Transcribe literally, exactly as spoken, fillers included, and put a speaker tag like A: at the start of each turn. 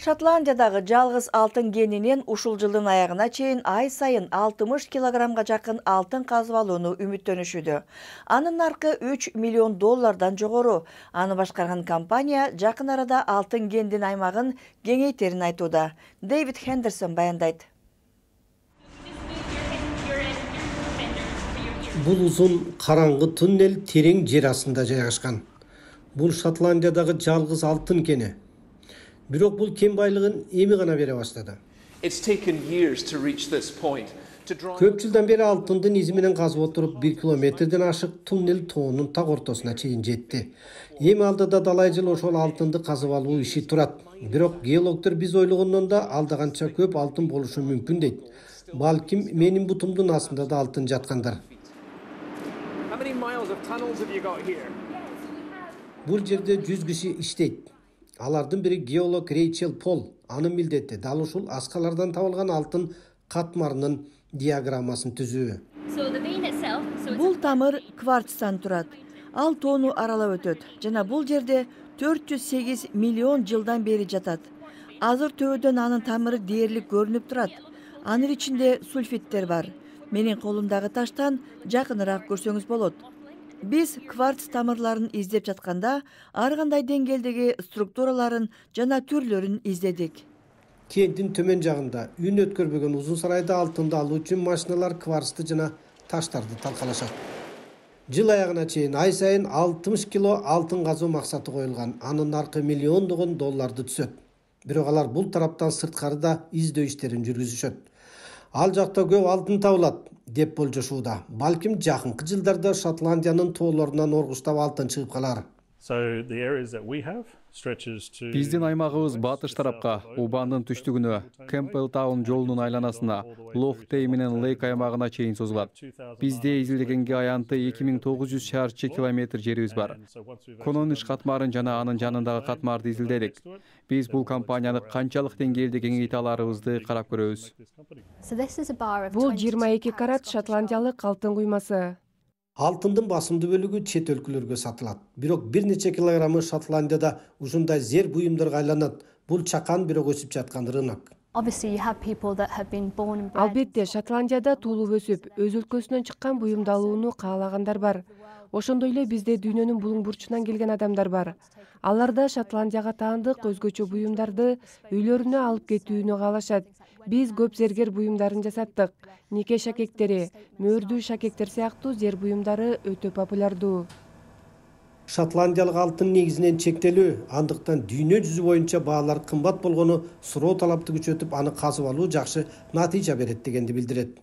A: Шотландиядагы жалгыз алтын кенинен ушул жылдын аягына чейин ай сайын алтымыш килограммга жакын алтын казып алууну үмүттөнүшүүдө. Анын наркы үч миллион доллардан жогору. Аны башкарган компания жакын арада алтын кендин аймагын кеңейтерин айтууда. Дэвид Хендерсон баяндайт.
B: Бул узун караңгы туннель терең жер астында жайгашкан. Бул Шотландиядагы жалгыз алтын кени. Бирок бул кен байлыгын эми гана бере баштады. Көп жылдан бери алтындын изи менен казып отуруп бир километрден ашык туннель тоонун так ортосуна чейин жетти. Эми алдыда далай жыл ошол алтынды казып алуу иши турат. Бирок геологдор биз ойлогондон да алда канча көп алтын болушу мүмкүн дейт. Балким менин бутумдун астында да алтын жаткандар. Бул жерде жүз киши иштейт. Алардын бири геолог Рейчел Пол. Анын милдети дал ушул аскалардан табылган алтын катмарынын диаграммасын түзүү.
A: Бул тамыр кварцтан турат. Ал тоону аралап өтөт жана бул жерде төрт жүз сегиз миллион жылдан бери жатат. Азыр төбөдөн анын тамыры дээрлик көрүнүп турат. Анын ичинде сульфиттер бар. Менин колумдагы таштан жакыныраак көрсөңүз болот. Биз кварц тамырларын издеп жатканда ар кандай деңгээлдеги структураларын жана түрлөрүн издедик.
B: Кенттин төмөн жагында үн өткөрбөгөн узун сарайда алтынды алуу үчүн машиналар кварцты жана таштарды талкалашат. Жыл аягына чейин ай сайын алтымыш кило алтын казуу максаты коюлган. Анын наркы миллиондогон долларды түзөт. Бирок алар бул тараптан сырткары да издөө иштерин жүргүзүшөт. Ал жакта көп алтын табылат деп болжошууда. Балким жакынкы жылдарда Шотландиянын тоолорунан оргуштап алтын чыгып калар.
C: Биздин аймагыбыз батыш тарапка, Убандын түштүгүнө, Кемпбелл Таун жолунун айланасына, Лохтей менен Лейк аймагына чейин созулат. Бизде изилдегенге аянты эки миң тогуз жүз чарчы километр жерибиз бар. Конониш катмарын жана анын жанындагы катмарды изилдедик. Биз бул компанияны канчалык деңгээлде кеңейте аларыбызды карап көрөбүз.
D: Бул жыйырма эки карат шотландиялык алтын куймасы.
B: Алтындын басымдуу бөлүгү чет өлкөлөргө сатылат. Бирок бир нече килограммы Шотландияда ушундай зер буюмдарга айланат. Бул чакан бирок өсүп жаткан рынок.
D: Албетте, Шотландияда туулуп өсүп, өз өлкөсүнөн чыккан буюмду алууну каалагандар бар. Ошондой эле бизде дүйнөнүн булуң бурчунан келген адамдар бар. Алар да Шотландияга таандык өзгөчө буюмдарды үйлөрүнө алып кетүүнү каалашат. Биз көп зергер буюмдарын жасаттык. Нике шакектери, мөөрдүү шакектер сыяктуу зер буюмдары өтө популярдуу.
B: Шотландиялык алтын негизинен чектелүү, андыктан дүйнө жүзү боюнча баалар кымбат болгону суроо талапты күчөтүп, аны казып алуу жакшы натыйжа берет дегенди билдирет.